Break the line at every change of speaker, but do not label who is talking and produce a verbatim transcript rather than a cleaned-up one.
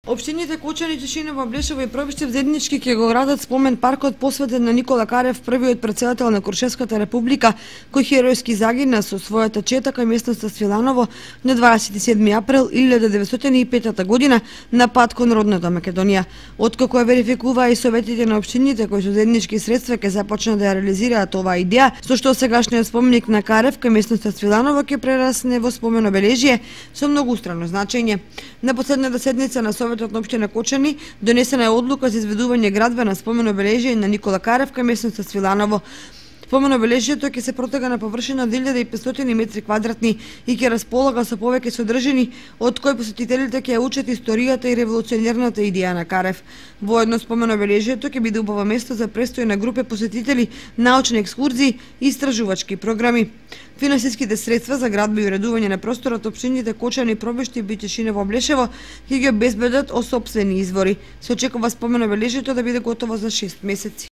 Општините Кочани, Тишиново, Блешево и Пробиштев заеднички ќе го градат спомен паркот посветен на Никола Карев, првиот претседател на Крушевската република, кој херојски загина со својата чета кај местноста Свиланово на дваесет и седми април илјада деветстотини и петта година на пат кон родната Македонија. Откако ја верификуваа и советите на општините кои со заеднички средства ќе започнат да ја реализираат оваа идеја, со што сегашниот споменик на Карев кај местноста Свиланово ќе прерасне во спомен обележје со многустрано значење. На последната седница на Советот на општина Кочани донесена е одлука за изведување градба на спомен обележје на Никола Карев кај местноста Свиланово. Спомен обележјето ќе се протега на површина од илјада и петстотини метри квадратни и ќе располага со повеќе содржини, од кои посетителите ќе ја учат историјата и револуционерната идеја на Карев. Воедно спомен обележјето ќе биде убаво место за престој на групи посетители, научни екскурзии и истражувачки програми. Финансиските средства за градба и уредување на просторот општините Кочани, Пробиштев и Тишиново, Блешево ќе ги обезбедат од сопствени извори. Се очекува спомен обележјето да биде готово за шест месеци.